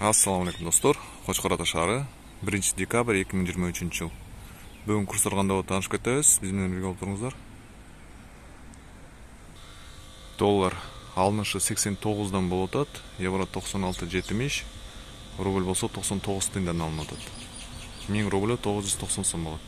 Assalamu alaikum достор. Кочкор Ата шаары 1 декабрь 2023 жыл. Бүгүн курстар кандай болуп таанышып кетебиз. Биз менен бирге болуп туруңуздар. Доллар алынышы 89дан болуп атат, евро 96.70, рубль болсо 99 тыйындан алынып атат. 1000 рубль 990 сом болот.